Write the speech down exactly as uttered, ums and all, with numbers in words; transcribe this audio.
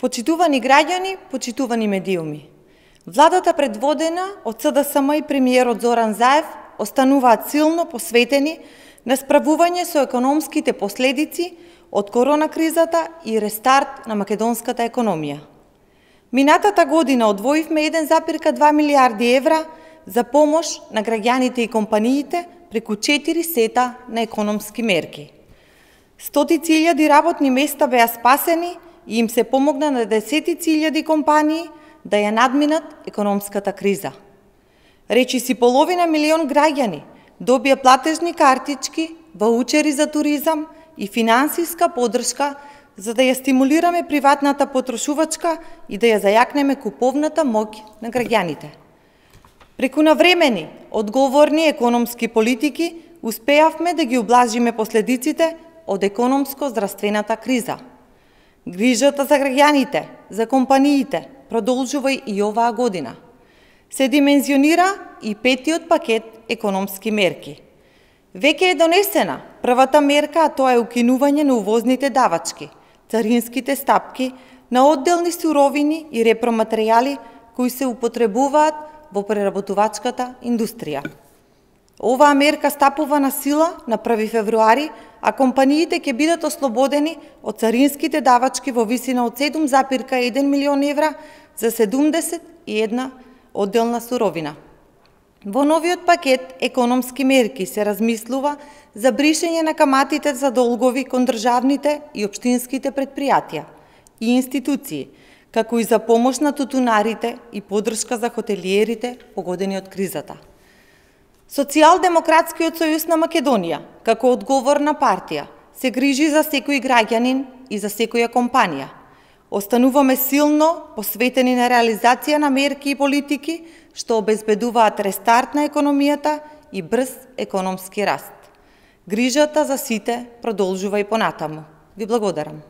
Почитувани граѓани, почитувани медиуми. Владата предводена од СДСМ и премиерот Зоран Заев остануваат силно посветени на справување со економските последици од корона кризата и рестарт на македонската економија. Минатата година одвоивме еден запирка два милијарди евра за помош на граѓаните и компаниите преку четири сета на економски мерки. Стотици илјади работни места беа спасени и им се помогна на десетици илјади компании да ја надминат економската криза. Речиси половина милион граѓани добија платежни картички, ваучери за туризам и финансиска поддршка за да ја стимулираме приватната потрошувачка и да ја зајакнеме куповната моќ на граѓаните. Преку навремени, одговорни економски политики успеавме да ги ублажиме последиците од економско-здравствената криза. Грижата за граѓаните, за компаниите, продолжува и оваа година. Се димензионира и петиот пакет економски мерки. Веќе е донесена првата мерка, а тоа е укинување на увозните давачки, царинските стапки на одделни суровини и репроматеријали кои се употребуваат во преработувачката индустрија. Оваа мерка стапува на сила на први февруари, а компаниите ќе бидат ослободени од царинските давачки во висина од седум запирка еден милион евра за седумдесет и една одделна суровина. Во новиот пакет економски мерки се размислува за бришење на каматите за долгови кон државните и општинските предпријатија и институции, како и за помош на тутунарите и поддршка за хотелиерите погодени од кризата. Социјалдемократскиот сојуз на Македонија, како одговорна партија, се грижи за секој граѓанин и за секоја компанија. Остануваме силно посветени на реализација на мерки и политики што обезбедуваат рестарт на економијата и брз економски раст. Грижата за сите продолжува и понатаму. Ви благодарам.